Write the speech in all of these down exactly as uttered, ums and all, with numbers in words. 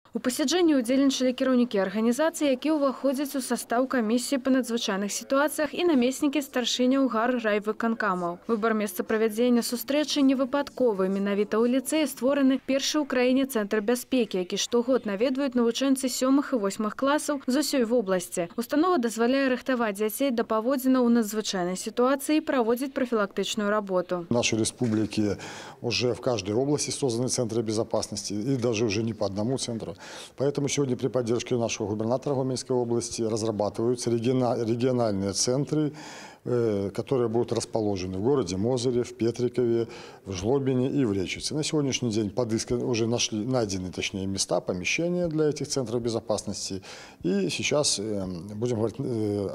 У пасяджэнні ўдзельнічалі кіраўнікі арганізацыі, які ўваходзяць у састаў камісіі па надзвычайных сітуацыях і намеснікі старшыняў гар райвыканкамаў. Выбар месца правядзення сустрэчы не выпадковы. Менавіта ў ліцэі створаны першы ў краіне цэнтр бяспекі, які штогод наведваюць навучэнцы сёмых і восьмых класаў з усёй вобласці. Установа дазваляе рыхтаваць дзяцей да паводзінаў у надзвычайнай сітуацыі і праводзіць профилактичную работу. В нашей республике уже в каждой области созданы центры безопасности, и даже уже не по одному центру. Поэтому сегодня при поддержке нашего губернатора Гомельской области разрабатываются региональные центры, которые будут расположены в городе Мозыре, в Петрикове, в Жлобине и в Речице. На сегодняшний день подысканы, уже нашли, найдены точнее места, помещения для этих центров безопасности. И сейчас, будем говорить,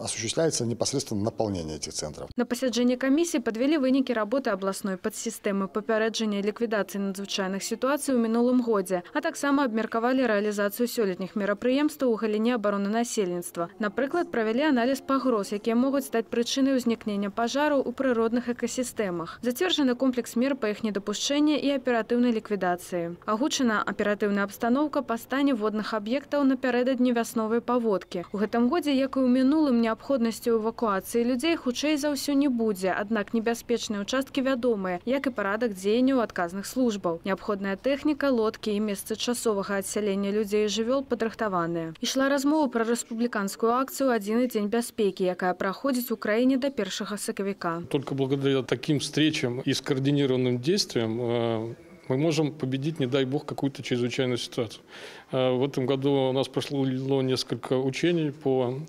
осуществляется непосредственно наполнение этих центров. На пасяджэнні камісіі падвялі вынікі работы абласной падсістэмы папярэджання і ліквідацыі надзвычайных сітуацый у мінулым годзе, а таксама абмеркавалі рэалізацыю сёлетніх мерапрыемстваў у галіне абароны насельніцтва. Напрыклад, правялі аналіз пагроз, якія могуць стаць прычынай узнікнення пажараў у прыродных экасістэмах. Зацверджаны комплекс мер па іх недапушчэння і аператыўнай ліквідацыі. Агучана аператыўная абстаноўка па стане водных аб'ектаў напярэдадні вясновай паводкі. У гэтым годзе, як і ў мінулым, неабходнасцю эвакуацыі людзей хутчэй за ўсё не будзе, аднак небяспечныя ўчасткі вядомыя, як і парадак дзеянняў адказных службаў. Неабходная тэхніка, лодкі і месцы часовага адсялення людзей і жывёл падрыхтаваныя. Ішла размова пра рэспубліканскую акцыю «Адзіны дзень бяспекі», якая праходзіць у краіне до первого сакавіка. Только благодаря таким встречам и скоординированным действиям мы можем победить, не дай бог, какую-то чрезвычайную ситуацию. В этом году у нас прошло несколько учений по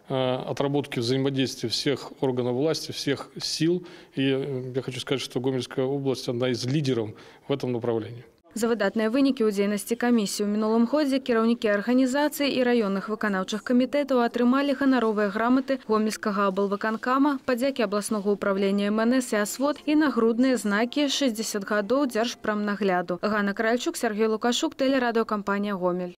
отработке взаимодействия всех органов власти, всех сил. И я хочу сказать, что Гомельская область одна из лидеров в этом направлении. За выдатныя вынікі ў дзейнасці камісіі ў мінулым годзе кіраўнікі арганізацый і раённых выканаўчых камітэтаў атрымалі ганаровыя граматы Гомельскага аблвыканкама, падзякі абласнога ўправлення эм эн эс і асвод і нагрудныя знакі шэсцьдзесят гадоў дзяржпрамнагляду. Ганна Каральчук, Сергей Лукашук, тэлерадыёкампанія «Гомель».